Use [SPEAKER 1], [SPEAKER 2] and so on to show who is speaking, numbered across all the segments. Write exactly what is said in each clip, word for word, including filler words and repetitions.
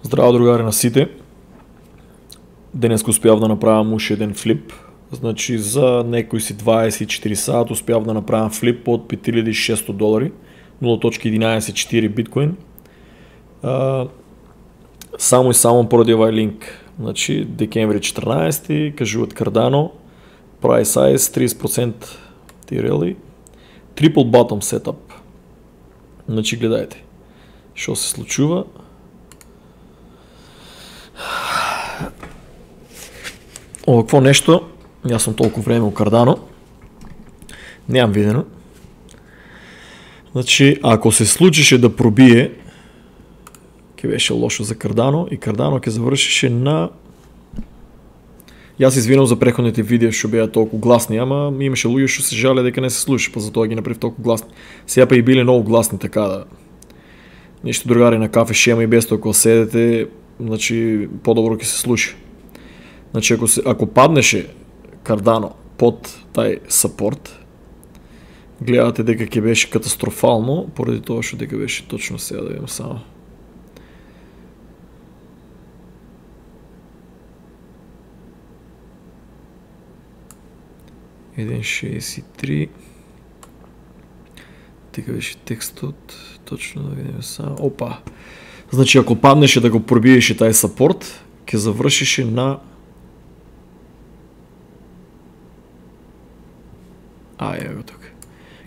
[SPEAKER 1] Здраво, другари на сите. Денес успјав да направам уште еден флип. Значи за некои си дваесет и четири сат успјав да направам флип од пет илјади и шестстотини долари, нула zarez единаесет четири биткоин. А, само и само поради овај линк. Значи декември четрнаесети, кажуваат Cardano, price size тридесет проценти тирели, triple bottom setup. Значи гледајте што се случува. Овакво нешто, јас сум толку време у Cardano, немам видено. Значи, ако се случише да пробие, ќе беше лошо за Cardano и Cardano ќе завршише на... Јас извинувам за преходните видеа што беа толку гласни, ама имаше луѓе што се жале дека не се слуша, па затоа ги направив толку гласни. Сега па и биле многу гласни, така да... Ништо, другари, на кафе шема и без тоа кога седете, значи подобро ќе се слуша. Значи ако се ако паднеше Cardano под тај сапорт, гледате дека ќе беше катастрофално, поради тоа што дека беше точно сега, да видам само. еден шеесет и три. Дека беше текстот, точно да видиме само. Опа. Значи ако паднеше да го пробиеше тај сапорт, ќе завршише на... А, ево го тука.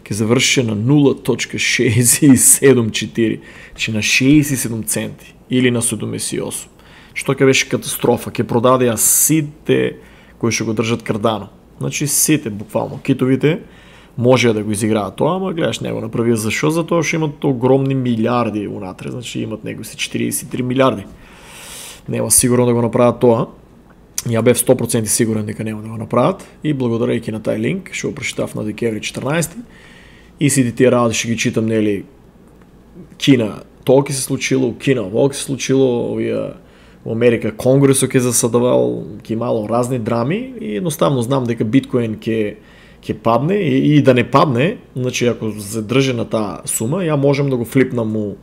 [SPEAKER 1] Ќе завршише на нула zarez шеесет и седум четири, значи на шеесет и седум центи или на седумдесет и осум. Што ќе беше катастрофа, ќе продадеа сите кои што го држат Cardano. Значи сите буквално китовите можеа да го изиграат тоа, ама гледаш не го направија зашо, затоа што имат огромни милиарди унатре, значи имат некои си четириесет и три милиарди. Нема сигурно да го направат тоа. Ја бев сто проценти сигурен дека нема да го направат и благодарејќи на тај линк што го прочитав на декември четрнаесети и сите тие работи што ги читам, нели, Кина, тоа ќе се случило, Кина, ова ќе се случило, овие во Америка Конгресот ќе засадувал, ќе имало разни драми и едноставно знам дека биткоин ќе ќе падне и, и да не падне, значи ако се држи на таа сума, ја можам да го флипнам у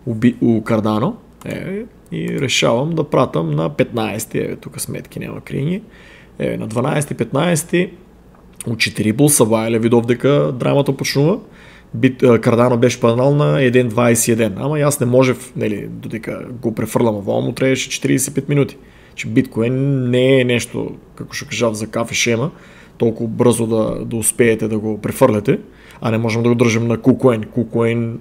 [SPEAKER 1] у, у Cardano, е, и решавам да пратам на петнаесети, еве тука сметки нема крињи. Еве на дванаесети петнаесети у четири булса вајле видов дека драмата почнува. Бит Cardano беше паднал на еден zarez дваесет и еден, ама јас не можев, нели, додека го префрлам овоа му требаше четириесет и пет минути. Че биткоин не е нешто, како што кажав за кафе шема, толку брзо да да успеете да го префрлете, а не можам да го држам на KuCoin. KuCoin,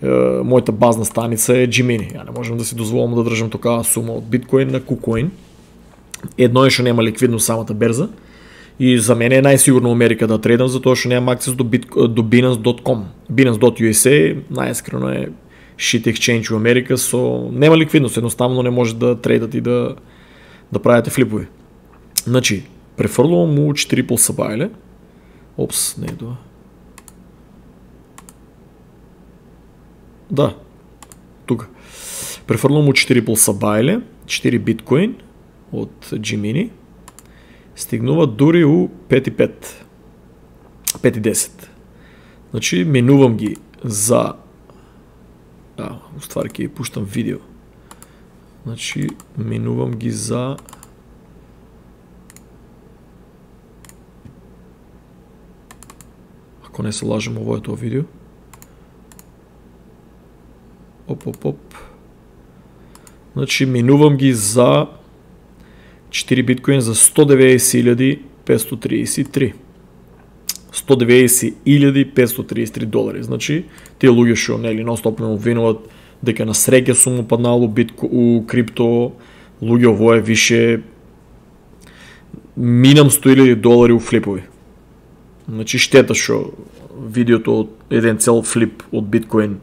[SPEAKER 1] е, мојата базна станица е Gemini. Ја не можам да си дозволам да држам такава сума од биткоин на KuCoin. Едно е што нема ликвидност самата берза. И за мене е најсигурно Америка да трейдам, затоа што немам акцес до, бит, до Binance dot com. Binance dot U S A најискрено е shit exchange у Америка, со нема ликвидност, едноставно не може да трейдат и да да правите флипови. Значи, префрлувам му четири пулса бајле. Опс, не е тоа. Да. Тука. Префрлувам му четири пулса бајле, четири биткоин од Gemini. Стигнува дури у пет и пет. пет и десет. Значи, менувам ги за... А, уствари ќе пуштам видео. Значи, менувам ги за... Ако не се лажам, ово е тоа видео. Оп, оп, оп. Значи, менувам ги за... четири биткоин за сто деветдесет илјади петстотини триесет и три. сто деветдесет илјади петстотини триесет и три долари. Значи, тие луѓе што нели нон-стоп ме обвинуваат дека на среќа сум упаднал у битко у крипто, луѓе ово е више минам сто илјади долари у флипови. Значи, штета што видеото од еден цел флип од биткоин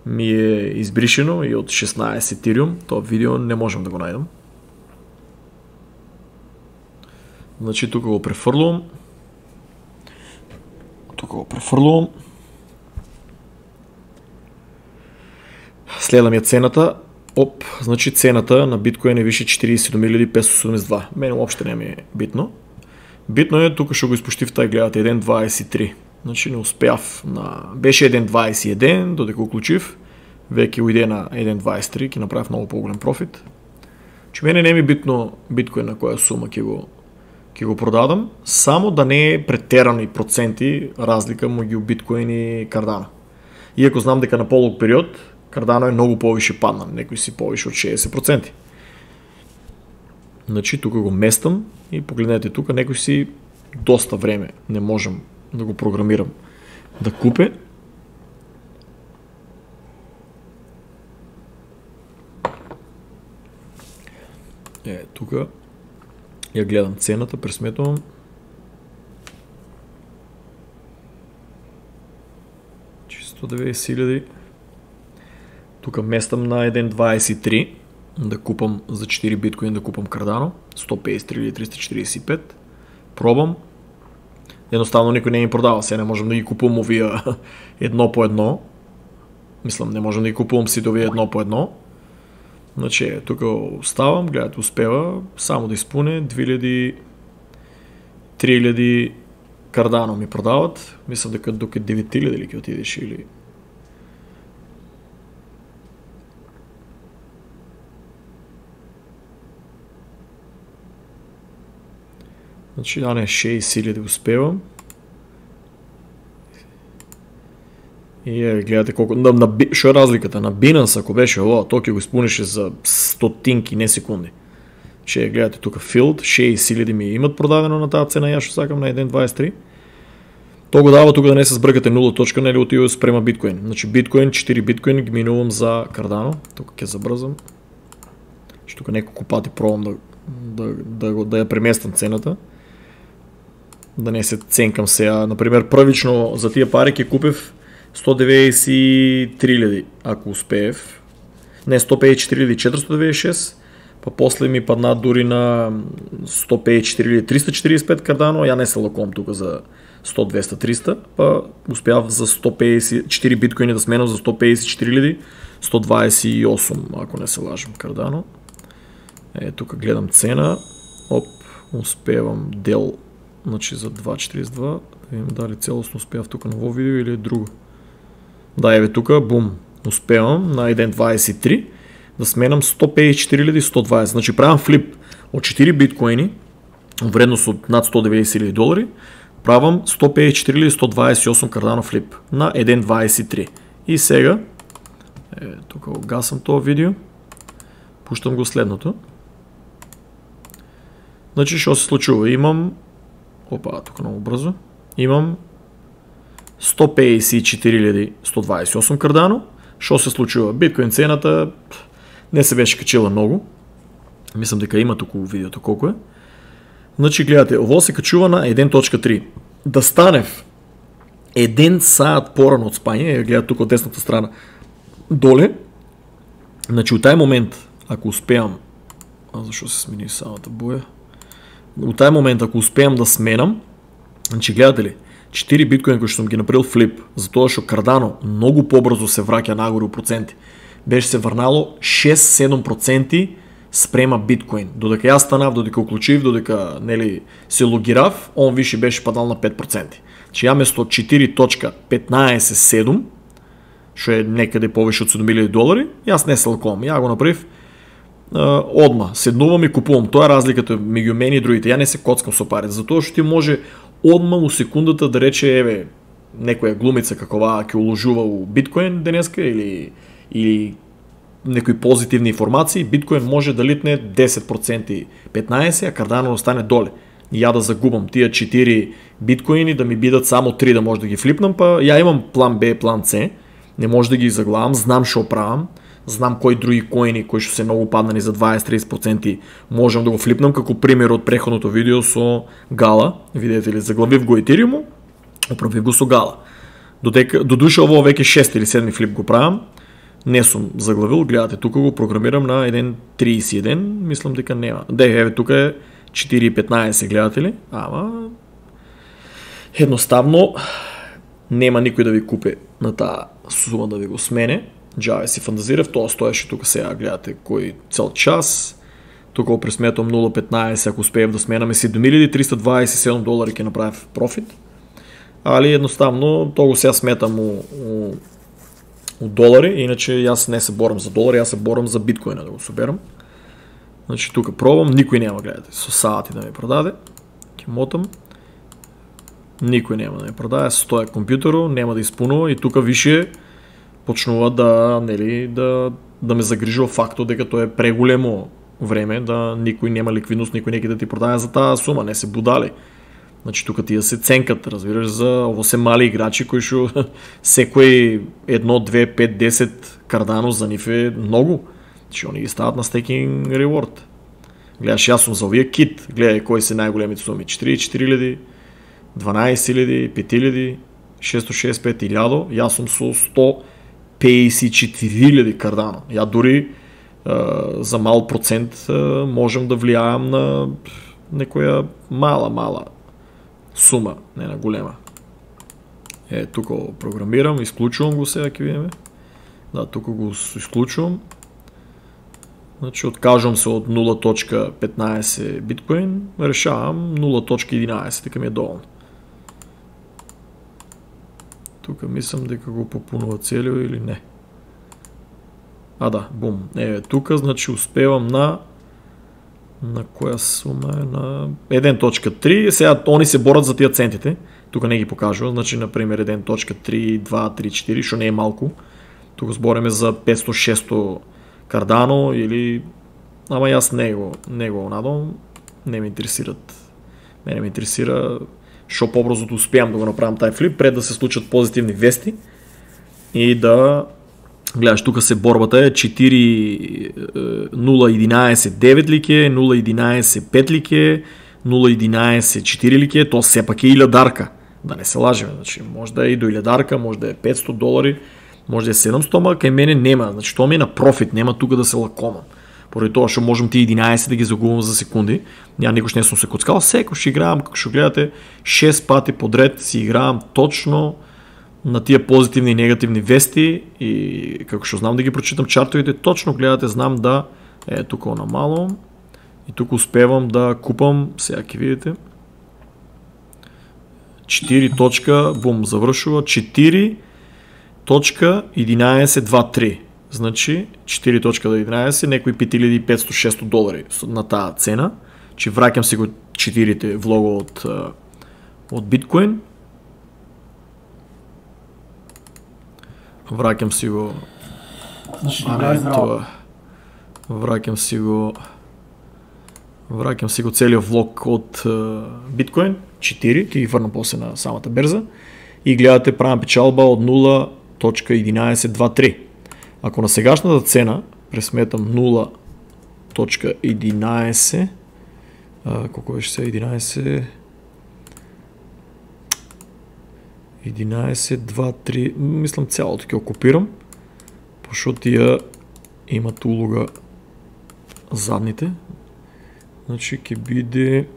[SPEAKER 1] ми е избришено и од шеснаесет Ethereum, тоа видео не можам да го најдам. Значи, тука го префрлувам. Тука го префрлувам. Следам ја цената. Оп, значи цената на биткоин е више четириесет и седум илјади петстотини седумдесет и два. Мене уопште не ми е битно. Битно е тука што го испуштив тај, гледате, еден zarez дваесет и три. Значи не успеав на... Беше еден zarez дваесет и еден, додека уклучив. веќе уиде на еден дваесет и три, ќе направи многу поголем профит. Че мене не ми битно биткоин на која сума ќе го ќе го продадам, само да не е претерани проценти разлика меѓу биткоин и Cardano. Иако знам дека на полог период Cardano е многу повише падна, некои си повише од шеесет проценти. Значи тука го местам и погледнете тука, некои си доста време не можам да го програмирам да купе. Е, тука ја гледам цената, пресметувам. сто деветдесет илјади. Тука местам на еден дваесет и три да купам за четири биткоин да купам Cardano, сто песет и три илјади триста четиридесет и пет. Пробам. Едноставно никој не ми продава, се не можам да ги купувам овие едно по едно. Мислам, не можам да ги купувам сите овие едно по едно. Значи, тука оставам, гледате, успева само да испуне две илјади, три илјади Cardano ми продават. Мислам дека дока девет илјади ли ќе отидеш или... Значи, а не, шеесет илјади успевам. И е, гледате колку... На, на, шо е разликата? На Binance, ако беше ова, то ќе го испунеше за стотинки, не секунди. Че, гледате тука Field, шеесет илјади ми имат продадено на таа цена, ја што сакам на еден дваесет и три. То го дава тука да не се збркате нула точка, нели отива спрема биткоин. Значи биткоин, четири биткоин ги минувам за Cardano. Тука ќе забрзам. Што тука неколку пати пробам да да да го да ја преместам цената. Да не се ценкам сега. Например, првично за тие пари ќе купев сто деветдесет и три илјади, ако успеев. Не, сто песет и четири илјади четиристотини деветдесет и шест, па после ми падна дури на сто песет и четири илјади триста четиридесет и пет Cardano, ја не се лакувам тука за сто, двеста, триста, па успеав за сто песет и четири биткоини да сменам за сто песет и четири илјади сто дваесет и осум, ако не се лажам, Cardano. Е, тука гледам цена, оп, успевам дел, значи за два четиридесет и два, да видим дали целосно успеав тука на ово видео или е друго. Да, еве тука, бум, успевам на еден дваесет и три да сменам сто песет и четири илјади сто дваесет. Значи правам флип од четири биткоини, вредност од над сто деветдесет илјади долари, правам сто песет и четири илјади сто дваесет и осум Cardano флип на еден дваесет и три. И сега, е, тука го гасам тоа видео, пуштам го следното. Значи, што се случува? Имам, опа, тука много брзо, имам сто песет и четири илјади сто дваесет и осум Cardano. Што се случува? Биткоин цената не се беше качила многу. Мислам дека има туку видеото колку е. Значи, гледате, ово се качува на еден точка три. Да станев еден саат порано од спање, гледате тука од десната страна доле. Значи, у тај момент, ако успеам, а зашо се смени самата боја? У тај момент, ако успеам да сменам, значи, гледате ли, четири биткоини кои што сум ги направил флип, затоа што Cardano многу побрзо се враќа нагоре у проценти. Беше се врнало шест-седум проценти спрема биткоин. Додека јас станав, додека уклучив, додека нели се логирав, он више беше падал на пет проценти. Значи ја место четири точка петнаесет седум, што е некаде повише од седум илјади долари, јас не се лакувам. Ја го направив одма, седнувам и купувам. Тоа е разликата меѓу мене и другите. Ја не се коцкам со пари, затоа што ти може одма у секундата да рече, еве, некоја глумица какова ќе уложува у биткоин денеска или или некои позитивни информации, биткоин може да литне десет проценти, петнаесет, а Cardano остане доле. И ја да загубам тие четири биткоини, да ми бидат само три да може да ги флипнам, па ја имам план Б, план С, не може да ги заглавам, знам што правам, знам кои други коини кои што се многу паднани за дваесет-тридесет проценти можам да го флипнам, како пример од претходното видео со Гала, видите ли, заглавив го Ethereum, оправив го со Гала. Додека до душа ово веќе шест или седми флип го правам, не сум заглавил, гледате, тука го програмирам на еден триесет и еден, мислам дека нема. Де, еве, тука е четири и петнаесет, гледате ли? Ама едноставно нема никој да ви купи на таа сума да ви го смене. Джаве си фантазирав, тоа стоеше тука сега, гледате, кој цел час. Тука го пресметам нула петнаесет, ако успеев да сменаме седум илјади триста дваесет и седум долари ќе направив профит. Али едноставно, тоа го сега сметам у, у у долари, иначе јас не се борам за долари, јас се борам за биткоина да го соберам. Значи тука пробам, никој нема, гледате, со сати да ми продаде. Ќе мотам. Никој нема да ми продаде, стоја компјутерот, нема да испунува и тука више почнува да, нели, да да ме загрижува фактот дека тоа е преголемо време, да никој нема ликвидност, никој неќе да ти продаде за таа сума, не се будали. Значи тука тие се ценкат, разбираш, за ово се мали играчи кои што секој едно, две, пет, десет Cardano за нив е многу. Значи они ги стават на стейкинг reward. Гледаш, јас сум за овие кит, гледај кои се најголемите суми, четири илјади, дванаесет илјади, пет илјади, шестоста шеесет и пет илјади, јас сум со сто пеесет и четири илјади Cardano. Ја дури Uh, за мал процент uh, можем да влијаам на некоја мала, мала сума, не на голема. Е, тука го програмирам, исклучувам го сега, ќе видиме. Да, тука го исклучувам. Значи, откажувам се од нула точка петнаесет биткоин, решавам нула точка единаесет, дека ми е доволно. Тука мислам дека го попунува целиот или не. А да, бум. Еве тука, значи успевам на на која сума е, на еден точка три. Сега они се борат за тие центите. Тука не ги покажува, значи на пример еден точка три, два, три, четири, што не е малку. Тука збориме за петсто шесто Cardano или ама јас не го не го надам, не ме интересират. Мене ме интересира што побрзо да успеам да го направам тај флип пред да се случат позитивни вести и да гледаш, тука се борбата е четири нула единаесет девет лике, нула единаесет пет лике, нула единаесет четири лике, тоа сепак е илјадарка. Да не се лажеме, значи може да е и до илјадарка, може да е петсто долари, може да е седумсто, ама кај мене нема, значи тоа ми е на профит, нема тука да се лакомам. Поради тоа што можам ти единаесет да ги загубам за секунди, ја никош не сум се коцкал, секој играам, како што гледате, шест пати подред си играам точно на тие позитивни и негативни вести и како што знам да ги прочитам чартовите, точно гледате, знам да е тука намалувам и тука успевам да купам, сега ќе видите, четири точка, бум, завршува, четири точка единаесет дваесет и три. Значи, четири точка единаесет, некои пет илјади и петсто шесто долари на таа цена. Че враќам си го четирите влога од, од биткоин. Враќам си го... А не, тоа... Враќам си го... Враќам си го целиот влог од биткоин, четири, ќе ги врнам после на самата берза. И гледате, правам печалба од нула точка единаесет дваесет и три. Ако на сегашната цена пресметам нула точка единаесет, колко беше се единаесет... единаесет дваесет и три, мислам цялото ќе окупирам, пошто тие имат улога задните. Значи ќе биде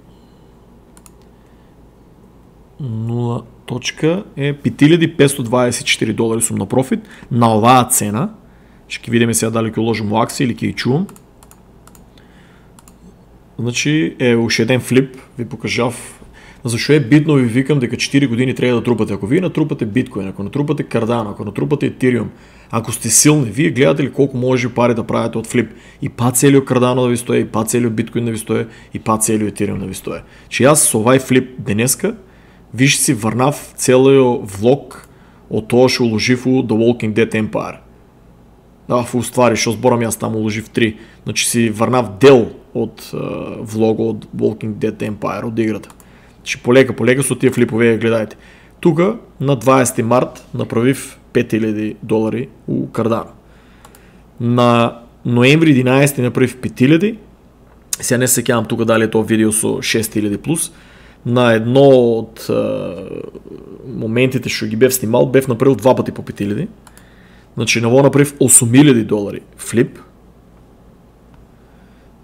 [SPEAKER 1] нула точка е пет илјади петсто дваесет и четири долари сум на профит на оваа цена. Ќе видиме сега дали ќе уложим во акции или ќе ја чувам. Значи е уште еден флип, ви покажав. Зашо е битно, ви викам дека четири години треба да трупате. Ако вие натрупате биткоин, ако натрупате Cardano, ако натрупате Ethereum, ако сте силни, вие гледате ли колку може пари да правите од флип? И па целиот Cardano да ви стое, и па целиот биткоин да ви стое, и па целиот Ethereum да ви стое. Че јас со овај флип денеска виж си врнав целиот влог од тоа што уложив у The Walking Dead Empire. Да, фу ствари, што зборам јас таму уложив три. Значи си врнав дел од uh, влога од Walking Dead Empire, од играта. Значи полека, полека со тие флипове гледајте. Тука на дваесети март направив пет илјади долари у Cardano. На ноември единаесети направив пет илјади. Сега не се сеќавам тука дали е тоа видео со шест илјади плюс. На едно од uh, моментите што ги бев снимал, бев направил два пати по пет илјади. Значи на ово направив осум илјади долари флип.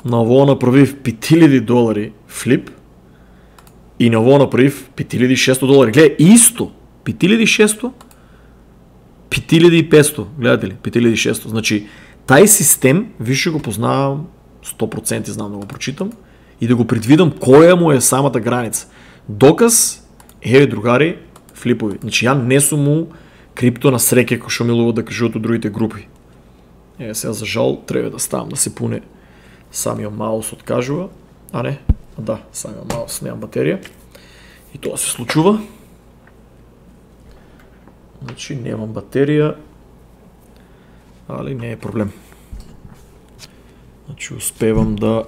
[SPEAKER 1] На ово направив пет илјади долари флип. И на ово направив пет илјади и шесто долари. Гледај, исто, пет илјади и шесто, пет илјади и петсто, гледате ли, пет илјади и шесто. Значи, тај систем, више го познавам, сто проценти знам да го прочитам, и да го предвидам која му е самата граница. Доказ, еве другари, флипови. Значи, ја не сум му крипто на среќа кој што милува да кажуваат од другите групи. Е, сега за жал треба да ставам да се пуне самиот маус откажува, а не, а да, самиот маус немам батерија. И тоа се случува. Значи немам батерија, али не е проблем. Значи успевам да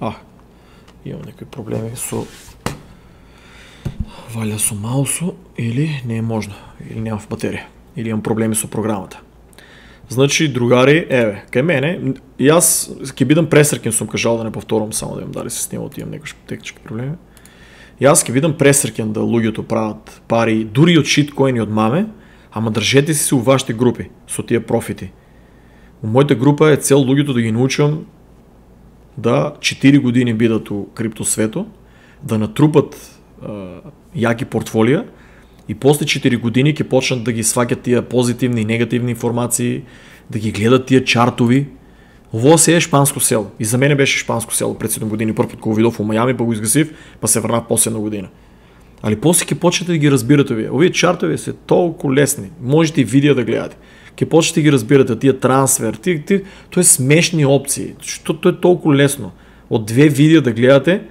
[SPEAKER 1] а имам некои проблеми со валја со маусо или не е можно, или немам батерија, или имам проблеми со програмата. Значи, другари, еве, кај мене, јас ќе бидам пресреќен, сум кажал да не повторам, само да имам дали се снимал, имам некои технички проблеми. Јас ќе бидам пресреќен да луѓето прават пари дури од шиткоини од маме, ама држете си се у вашите групи со тие профити. У мојата група е цел луѓето да ги научам да четири години бидат у крипто свето, да натрупат е, јаки портфолија и после четири години ќе почнат да ги сваќат тие позитивни и негативни информации, да ги гледат тие чартови. Ово се е шпанско село. И за мене беше шпанско село пред седум години, прв пат кога видов во Мајами, па го изгасив, па се врнав после една година. Али после ќе почнете да ги разбирате овие. Овие чартови се толку лесни. Можете и видео да гледате. Ќе почнете да ги разбирате тие трансфер, тие, тие тоа е смешни опции. Што тоа е толку лесно. Од две видео да гледате,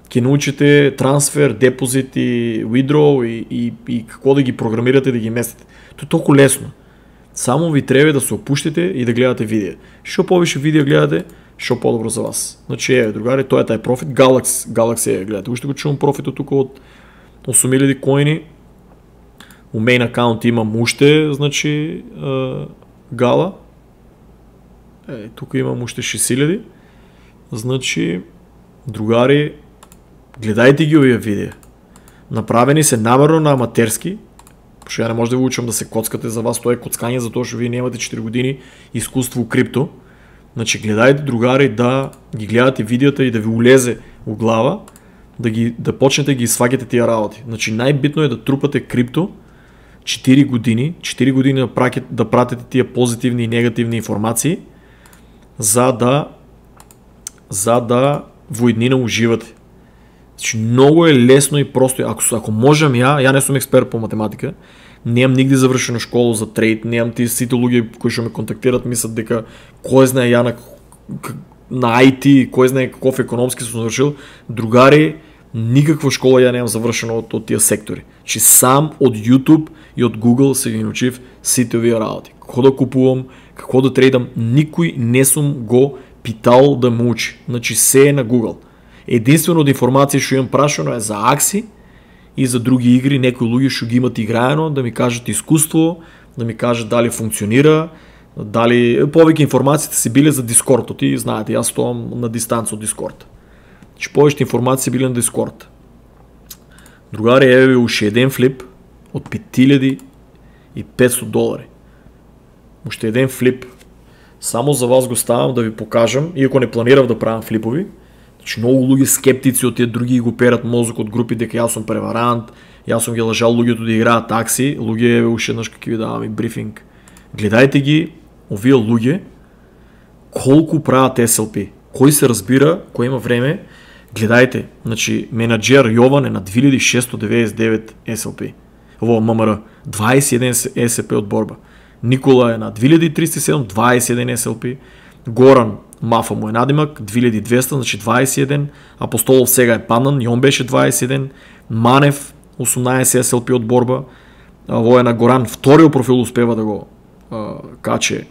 [SPEAKER 1] ќе научите трансфер, депозит и withdraw и, и, и како да ги програмирате да ги местите. Тоа е толку лесно. Само ви треба да се опуштите и да гледате видео. Што повише видео гледате, што подобро за вас. Значи, еве, другари, тоа е тај профит. Galaxy, Galaxy е, гледате. Уште го чувам профитот тука од осум илјади коини. У мейн акаунт имам уште, значи, е, Gala. Е, тука имам уште шест илјади. Значи, другари, гледајте ги овие видео. Направени се намерно на аматерски, пошто ја не може да ви учам да се коцкате, за вас тоа е коцкање, затоа што вие немате четири години искуство у крипто. Значи, гледајте, другари, да ги гледате видеото и да ви улезе у глава, да ги да почнете да ги сваќате тие работи. Значи, најбитно е да трупате крипто четири години, четири години да пратите, да пратите тие позитивни и негативни информации, за да за да во иднина уживате. Значи, многу е лесно и просто. Ако, ако можам ја, ја не сум експерт по математика, немам нигде завршена школа за трейд, немам тие сите луѓе кои што ме контактират мислат дека кој знае ја на, на ай ти, кој знае каков економски сум завршил. Другари, никаква школа ја немам завршена од, од тие сектори. Значи, сам од YouTube и од Google се ги научив сите овие работи. Како да купувам, како да трейдам, никој не сум го питал да ме учи. Значи, се е на Google. Единствено од информации што имам прашано е за акси и за други игри, некои луѓе што ги имат играено, да ми кажат искуство, да ми кажат дали функционира, дали повеќе информациите се биле за Discord, ти знаете, јас стоам на дистанца од Discord. Значи повеќе информации биле на Discord. Другари, еве уште еден флип од пет илјади и петстотини долари. Уште еден флип. Само за вас го ставам да ви покажам, иако не планирав да правам флипови. Значи, многу луѓе скептици од тие други го перат мозок од групи дека јас сум преварант, јас сум ги лажал луѓето да играат такси, луѓе еве уште еднаш како ви давам и брифинг. Гледајте ги овие луѓе колку прават ес ел пи. Кој се разбира, кој има време, гледајте. Значи, менаџер Јован е на две илјади шестоста деветдесет и девет ес ел пи. Во ем ем ар, дваесет и еден ес ел пи од борба. Никола е на две илјади триста и седум, дваесет и еден ес ел пи. Горан Мафа му е надимак, две илјади и двеста, значи дваесет и еден. Апостолов сега е паднан, и он беше дваесет и еден. Манев, осумнаесет ес ел пи од борба. Во е на Горан, вториот профил успева да го а, каче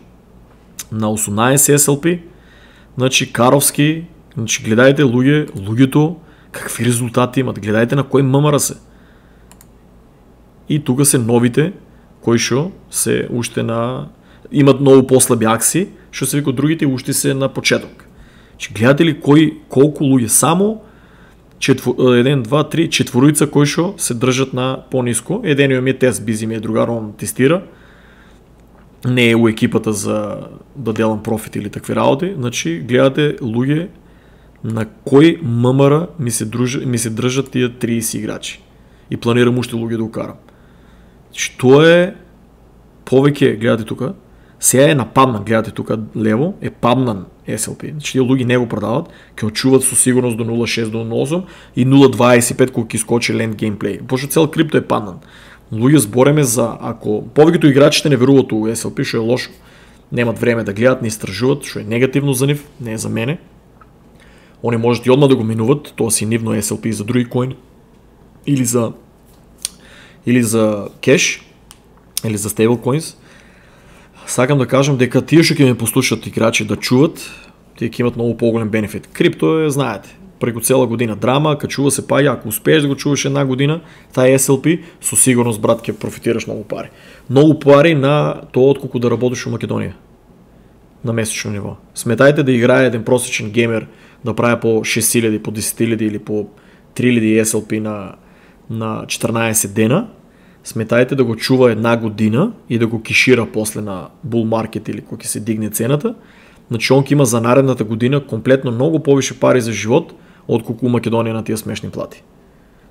[SPEAKER 1] на осумнаесет ес ел пи. Значи Каровски, значи гледајте луѓе, луѓето какви резултати имат, гледајте на кој ем ем ар се. И тука се новите кои што се уште на имат многу послаби акси, што се вика другите уште се на почеток. Значи гледате ли кој колку луѓе само еден, два, три, четворица кои што се држат на пониско. Едениот ми е тест бизи ми е другар, он тестира. Не е у екипата за да делам профит или такви работи. Значи гледате луѓе на кој ем ем ар ми се дружат, ми се држат тие триесет играчи. И планирам уште луѓе да укарам. Што е повеќе, гледате тука, сега е нападнан, гледате тука лево, е паднан ес ел пи. Значи тие луѓе не го продават, ќе очуват со сигурност до нула шест до нула осум и нула дваесет и пет кога ќе скочи ленд геймплей. Пошто цел крипто е паднан. Луѓе збореме за, ако повеќето играчите не веруваат у ес ел пи, што е лошо, немат време да гледат, не истражуваат, што е негативно за нив, не е за мене. Они можат и одма да го минуват, тоа си нивно ес ел пи за други коини, или за или за кеш, или за стейблкоинс. Сакам да кажам дека тие што ќе ме послушат играчи да чуват, тие ќе имат многу поголем бенефит. Крипто е, знаете, преку цела година драма, качува се паѓа, ако успееш да го чуваш една година, таа ес ел пи, со сигурност, брат, ќе профитираш многу пари. Многу пари на тоа отколку да работиш во Македонија. На месечно ниво. Сметајте да играе еден просечен геймер да прави по шест илјади, по десет илјади или по три илјади ес ел пи на, на четрнаесет дена, сметајте да го чува една година и да го кишира после на bull market или кога ќе се дигне цената, значи он ќе има за наредната година комплетно многу повише пари за живот отколку у Македонија на тие смешни плати.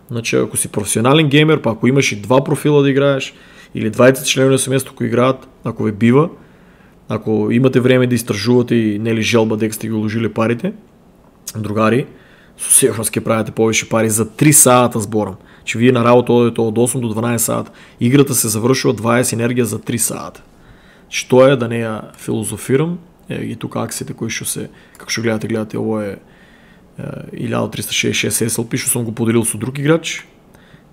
[SPEAKER 1] Значи ако си професионален геймер, па ако имаш и два профила да играеш или дваесет членови на семејството кои играат, ако ве бива, ако имате време да истражувате и нели желба дека сте ги уложили парите, другари, со сигурност ќе правите повише пари за три сата зборам. Че вие на работа одите од осум до дванаесет сата. Играта се завршува дваесет енергија за три сата. Што е да не ја филозофирам, е, и тука акциите кои што се, како што гледате, гледате, ово е илјада триста шеесет и шест ес ел пи што сум го поделил со друг играч.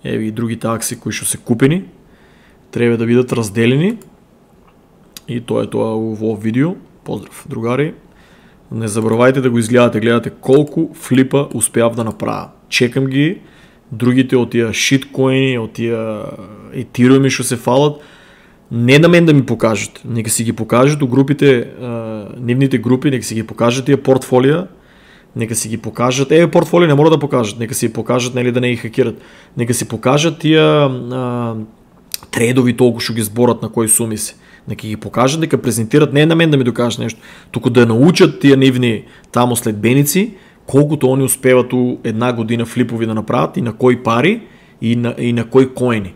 [SPEAKER 1] Еви и другите акции кои што се купени, треба да бидат разделени. И тоа е тоа во видео. Поздрав, другари. Не забравајте да го изгледате, гледате колку флипа успеав да направам. Чекам ги другите од тие шиткоини, од тие етириуми што се фалат, не на мен да ми покажат, нека си ги покажат у групите, нивните групи, нека си ги покажат тие портфолија, нека си ги покажат, еве портфолија не мора да покажат, нека си покажат, нели да не ги хакират, нека си покажат тие а, тредови толку што ги зборат на кои суми се. Нека ги покажат, нека презентират, не на мен да ми докажат нешто, туку да научат тие нивни таму следбеници, колкото они успеват у една година флипови да направат и на кои пари и на, и на кои коини.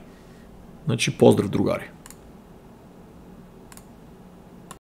[SPEAKER 1] Значи, поздрав, другари.